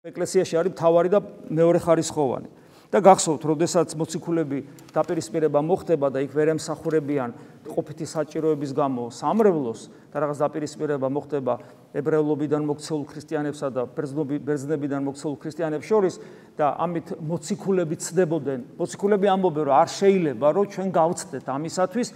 ეკლესიაში არის მთავარი და მეორე ხარისხოვანი. და გახსოვთ, როდესაც მოციქულები დაპირისპირება მოხდება და იქ ვერ ემსახურებიან ყოფითი საჭიროების გამო სამრევლოს და რაღაც დაპირისპირება მოხდება ებრაელობიდან მოქცეულ ქრისტიანებსა და ბერძნებიდან მოქცეულ ქრისტიანებს შორის და ამით მოციქულები ცდებოდნენ. მოციქულები ამბობენ, რომ არ შეიძლება, რომ ჩვენ გავცდეთ ამისათვის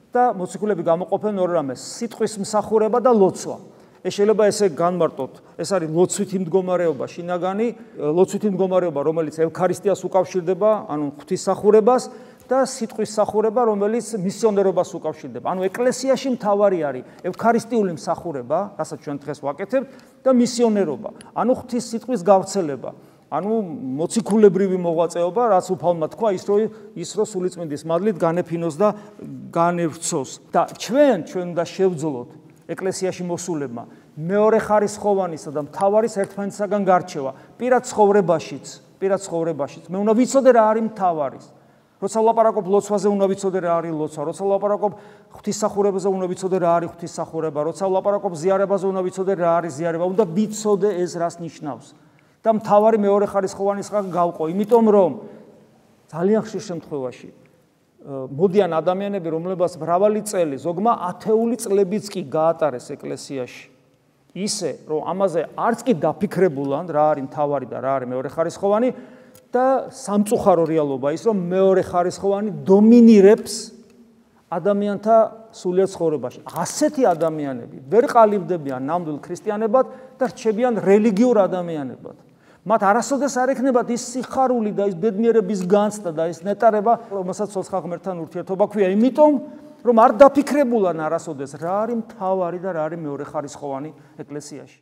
და მოციქულები გამოყოფენ ორ რამეს: სიტყვის მსახურება და ლოცვა. ეს შეიძლება ესე განმარტოთ. ეს არის ლოცვითი მდგომარეობა შინაგანი, ლოცვითი მდგომარეობა, რომელიც ევქარისტიას უკავშირდება, ანუ ღვთისმსახურებას და სიტყვის მსახურება, რომელიც მისიონერობას უკავშირდება. ანუ ეკლესიაში მთავარი არის ევქარისტიული მსახურება, რასაც ჩვენ დღეს ვაკეთებთ, და მისიონერობა, ანუ ღვთის სიტყვის გავრცელება. ანუ მოციქულებრივი მოღვაწეობა, რაც უფალმა თქვა, ის რომ სულიწმინდის მადლით განეფინოს და განევრცოს. და ჩვენ უნდა შევძლოთ ეკლესიაში მოსულებმა მეორე ხარისხოვანისა და მთავარის ერთმანეთისაგან გარჩევა პირად ცხოვრებაშიც. მე უნდა ვიცოდე რა არის მთავარის. როცა ვლაპარაკობ ლოცვაზე, უნდა ვიცოდე რა არის ლოცვა. როცა ვლაპარაკობ ღვთისმსახურებაზე, უნდა ვიცოდე რა არის ღვთისმსახურება. როცა ვლაპარაკობ ზიარებაზე, უნდა ვიცოდე რა არის ზიარება. უნდა ვიცოდე ეს რას ნიშნავს. და მთავარი მეორე ხარისხოვანისგან გავყო, იმიტომ რომ ძალიან ხშირ შემთხვევაში მოდიან ადამიანები, რომლებსაც მრავალი წელი, ზოგმა 10 წლებიც კი გაატარეს ეკლესიაში. ისე, რომ ამაზე არც კი დაფიქრებულან, რა არის მთავარი და რა არის მეორე ხარისხოვანი და სამწუხარო რეალობა ის, რომ მეორე ხარისხოვანი დომინირებს ადამიანთა სულიერ ცხოვრებაში. ასეთი ადამიანები ვერ ყალიბდებიან ნამდვილ ქრისტიანებად და რჩებიან რელიგიურ ადამიანებად. მათ არასოდეს არ ექნებათ ის სიხარული და ის ბედნიერების განცდა და ის ნეტარება, რომელსაც ცოცხალ ღმერთთან ურთიერთობა ქვია, იმიტომ რომ არ დაფიქრებულან არასოდეს რა არის მთავარი და რა არის მეორე ხარისხოვანი ეკლესიაში.